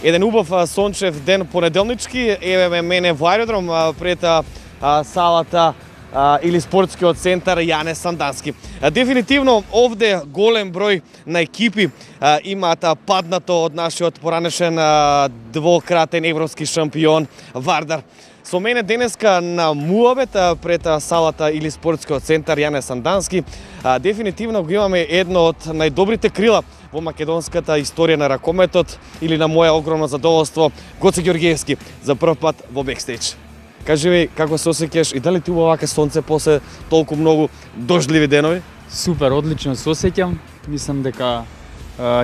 Еден убав сончев ден понеделнички, еве ме мене во аеродром пред салата или спортскиот центар Јане Сандански. Дефинитивно овде голем број на екипи имаат паднато од нашиот поранешен двократен европски шампион Вардар. Со мене денеска на муабет пред салата или спортскиот центар Јане Сандански дефинитивно го имаме едно од најдобрите крила во македонската историја на ракометот или на моја огромно задоволство Гоце Ѓорѓиевски за прв пат во бекстејдж. Кажи ми како се осеќаш и дали ти убаво вака сонце после толку многу дождливи денови? Супер, одлично се осеќам. Мислам дека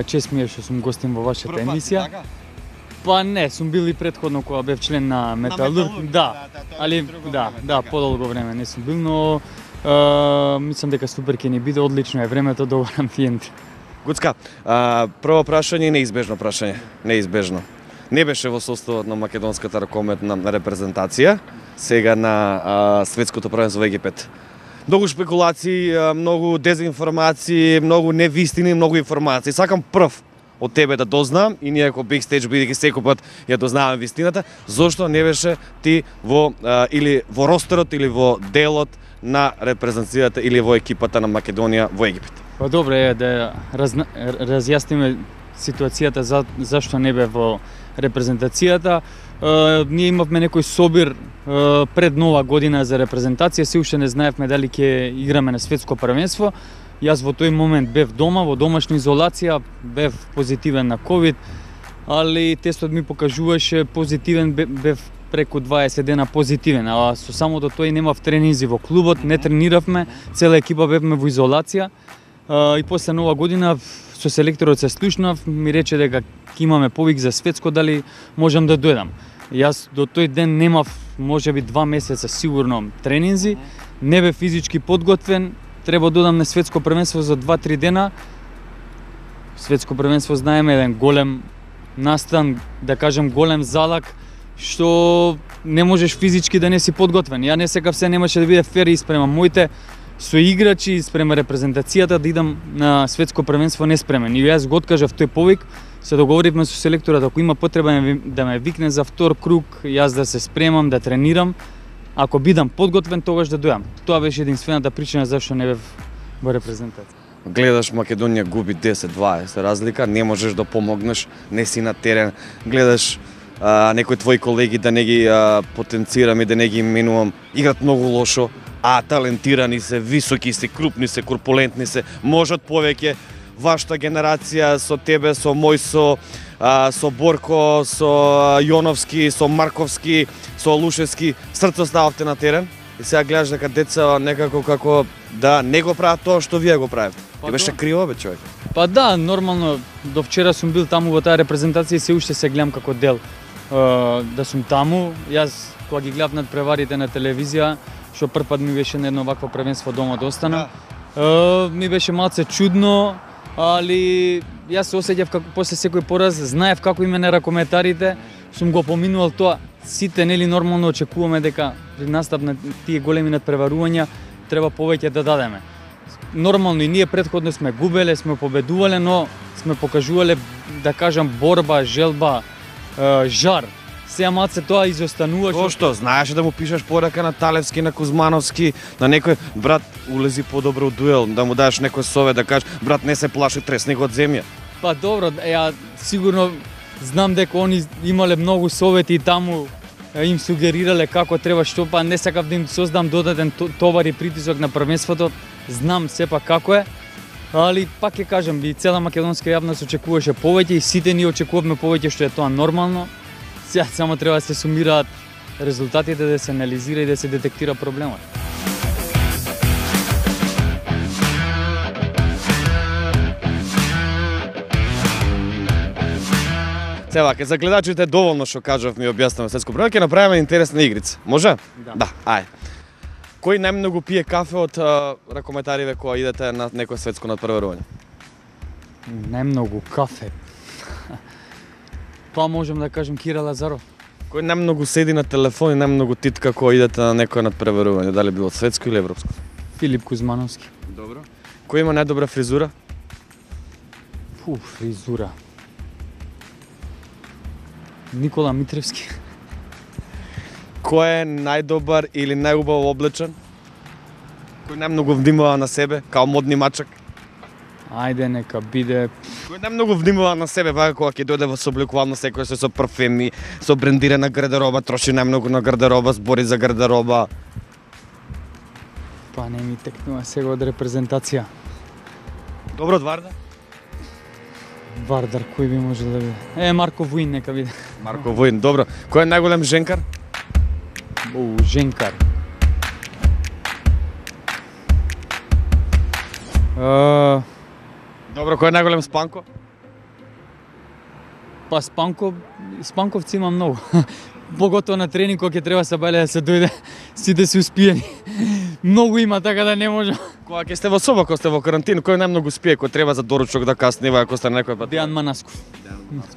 чест ми е што сум гостин во вашата емисија. Па не, сум бил и претходно кога бев член на Металург. Да, али да, подолго време не сум бил, но мислам дека супер ќе ни биде, одлично е времето, добар амбиент. Гуцка, прво прашање, неизбежно прашање, неизбежно. Не беше во составот на македонската ракометна репрезентација, сега на светското првенство во Египет. Многу шпекулации, многу дезинформации, многу невистини, многу информации. Сакам прв од тебе да дознам и ние како бекстејдж бидејќи секој пат ја дознаваме вистината, зошто не беше ти во или во ростерот или во делот на репрезентацијата или во екипата на Македонија во Египет? Па добре е да разјасниме ситуацијата зашто не бе во репрезентацијата. Ние имавме некој собир пред нова година за репрезентација, се уште не знаевме дали ќе играме на светско првенство. Јас во тој момент бев дома, во домашна изолација, бев позитивен на ковид, али тестот ми покажуваше позитивен, бев преку 20 дена позитивен, а со самото тој немав тренинзи во клубот, не трениравме, цела екипа бевме во изолација. И после нова година со селекторот се слушнав, ми рече дека ќе имаме повик за светско, дали можам да дојдам. Јас до тој ден немав можеби 2 месеца сигурно тренинзи, не бев физички подготвен, треба да одам на светско првенство за 2-3 дена. Светско првенство знаеме еден голем настан, да кажем голем залак, што не можеш физички да не си подготвен. Ја не секав се немаше да биде фер и спремам моите соиграчи спрема репрезентацијата да идам на светско првенство неспремен. И јас го откажав тој повик, се договоривме со селекторот ако има потреба да ме викне за втор круг, јас да се спремам, да тренирам. Ако бидам подготвен, тогаш да дојам. Тоа беше единствената причина зашто не бев во репрезентација. Гледаш Македонија губи 10-20 разлика, не можеш да помогнеш, не си на терен. Гледаш некои твои колеги да не ги потенцирам и да не ги именувам, играт многу лошо, а талентирани се, високи се, крупни се, корпулентни се, можат повеќе. Вашата генерација со тебе, со мој, со Борко, со Јоновски, со Марковски, со Лушевски, срцо стававте на терен и сега гледаш дека деца некако како да не го прават тоа што вие го правите. Ти беше криво бе човек. Па да, нормално, до вчера сум бил таму во таа репрезентација и се уште се гледам како дел да сум таму. Јас кога ги гледав над преварите на телевизија, што прв пат ми беше на едно вакво првенство дома да останам, ми беше малце чудно, али јас се осеќав како после секој пораз, знаев како име на ракометарите, сум го поминувал тоа. Сите нели нормално очекуваме дека при настап на тие големи надпреварувања треба повеќе да дадеме. Нормално и ние претходно сме губеле, сме победувале, но сме покажувале, да кажам, борба, желба, жар. Сега малце тоа изостанува. Зошто? Знаеше да му пишеш порака на Талевски, на Кузмановски, на некој брат улези подобро дуел, да му дадеш некој совет, да кажеш брат не се плаши, тресни го од земја. Па добро, ја сигурно знам дека они имале многу совети и таму им сугерирале како треба што, па не сакав да им создам додатен товар и притисок на првенството. Знам сепак како е, али пак ќе кажам, и цела македонска јавност очекуваше повеќе и сите ние очекувавме повеќе, што е тоа нормално. Сега само треба да се сумираат резултатите, да се анализира и да се детектира проблемот. Сега, ке за гледачите доволно што кажав ми објаснувам светско првенство, ќе направиме интересна игрица. Може? Да, ај. Кој најмногу пие кафе од ракометариве кога идете на некој светско надпреварување? Најмногу кафе. Па можем да кажем Кира Лазаров. Кој најмногу седи на телефон и најмногу титка кога идете на некој надпреварување, дали било светско или европско? Филип Кузмановски. Добро. Кој има најдобра фризура? Фризура. Никола Митревски. Кој е најдобар или најубаво облечен? Кој најмногу внимава на себе, као модни мачак? Ајде, нека биде... Кој најмногу внимава на себе, вака кога ќе дојде во собликувално секој се со парфеми, со брендирана гардероба, троши најмногу на гардероба, збори за гардероба. Па не ми текнува сега од репрезентација. Добро, Вардар? Вардар, кој би можел да биде? Марко Вуин нека биде. Марко Вуин, добро. Кој е најголем женкар? Женкар. Добро, кој е најголем спанко? Па спанковци има многу. Поготово на тренинг кога ќе треба се бајле да се дојде, сите се успиени. Многу има, така да не може. Кога ќе сте во соба, кога сте во карантин, кој најмногу спие, кој треба за доручок да каснива, ако сте на некој пат? Дејан Манасков.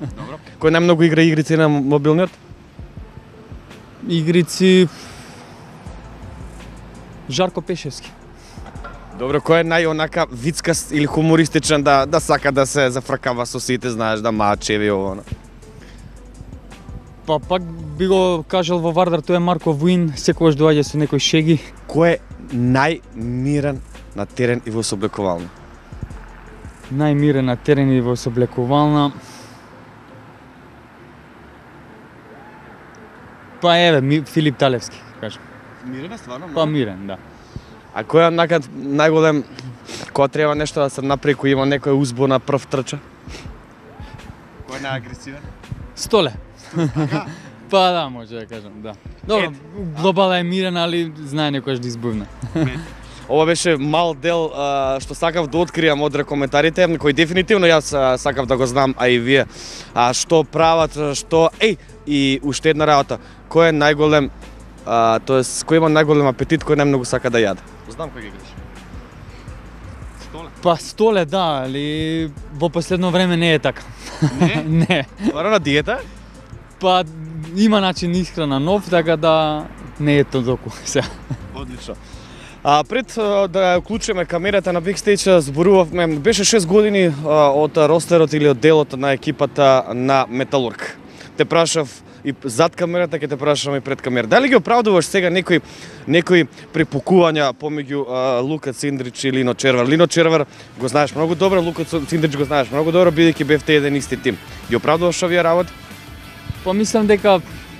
Добро. Кој најмногу игра игрици на мобилниот? Игрици... Жарко Пешевски. Добро, кој е најонака вицкаст или хумористичен да сака да се зафркава со сите, знаеш, да мачеви ово. Па пак би го кажал во Вардар, тој е Марко Вуин, секогаш доаѓа со некои шеги. Кој е најмирен на терен и во собликувална? Најмирен на терен и во собликувална... Па еве, Филип Талевски, кажам. Мирен е стварно? Па мирен, да. А кој е накад најголем, кога треба нешто да се направи, кој има некој узбо на прв трча? Кој е најагресивен? Столе. Па да, може да кажам, да. Добро, глобала е мирен, али знае некојаш да избувне. Ова беше мал дел што сакав да откријам од коментарите, кои дефинитивно јас сакав да го знам, а и вие. Што прават, што... И уште една работа, кој е најголем, тоест кој има најголем апетит, кој најмногу сака да јаде? Знам кој ги греш. Столе? Па Столе, да, али во последно време не е така. Не? Не. Вара на диета? Па има начин исхрана нов, така да не е толку сега. Одлично. Пред да уклучиме камерата на Бикстејдж, зборувавме, беше 6 години од ростерот или од делот на екипата на Металург. Те прашав и зад камерата, ќе те прашам и пред камерата. Дали ги оправдуваш сега некои препукувања помеѓу Лука Циндрич и Лино Червар? Лино Червар го знаеш многу добро, Лука Циндрич го знаеш многу добро, бидејќи бевте еден исти тим. Ги оправдуваш овие работи? Па мислам дека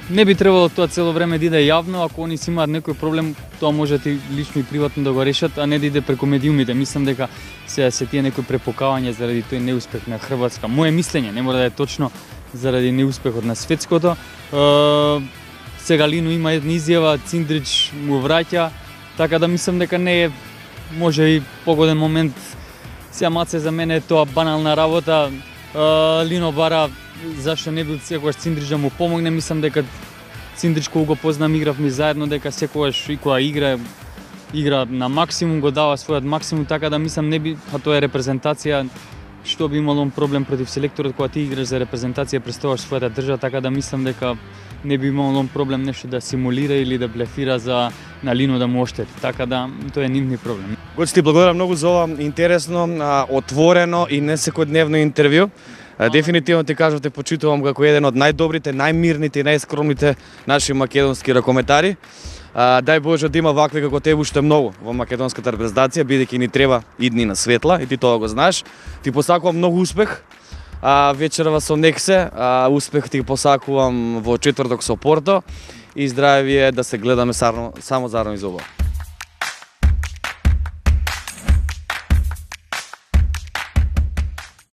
не би требало тоа цело време да иде јавно, ако они си имаат некој проблем, тоа можат и лично и приватно да го решат, а не да иде преку медиумите. Мислам дека се тие некои препукавања заради тој неуспех на Хрватска. Моje мислење, не мора да е точно, заради неуспехот на светското. Сега Лино има една изјава, Циндрич му враќа, така да мислам дека не е може и погоден момент. Сега маце за мене е тоа банална работа. Лино бара зашто не бил секогаш Циндрич да му помогне. Мислам дека Циндрич кога го познам, игравме заедно, дека секогаш и кога игра на максимум, го дава својот максимум, така да мислам не би, а тоа е репрезентација, што би имало проблем против селекторот кога ти играш за репрезентација, представуваш својата држава, така да мислам дека не би имало проблем нешто да симулира или да блефира за на Лино да му оштети. Така да тоа е нивни проблем. Гоци, ти благодарам многу за ова интересно, отворено и не секојдневно интервју. Дефинитивно ти кажав, те почитувам како еден од најдобрите, најмирните и најскромните наши македонски ракометари. Дај Боже да има вакви како тебе уште многу во македонската репрезентација, бидејќи ни треба идни на светла и ти тоа го знаеш. Ти посакувам многу успех. Вечерва со Нексе, успех ти посакувам во четврток со Порто и здравје да се гледаме само зарано из ова.